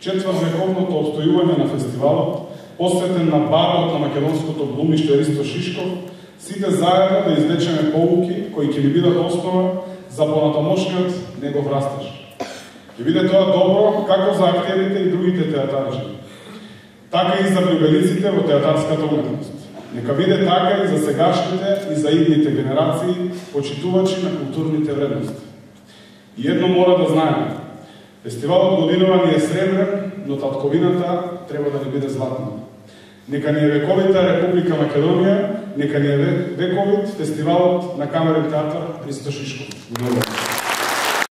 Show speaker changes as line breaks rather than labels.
четвртвековното обстојување на фестивалот, посветен на барот на македонското глумиште Ристо Шишков, сите заедно да извлечеме поуки кои ќе ни бидат основа за понатамошниот негов растеж. Ќе биде тоа добро како за актерите и другите театарчи, така и за влюбениците во театарската уметност. Нека биде така и за сегашните и за идните генерации, почитувачи на културните вредности. И едно мора да знаеме. Фестивалот годинова ни е сребрен, но татковината треба да ни биде златна. Нека ни е вековита Република Македонија, нека ни е вековит фестивалот на камерен театар Ристо Шишков.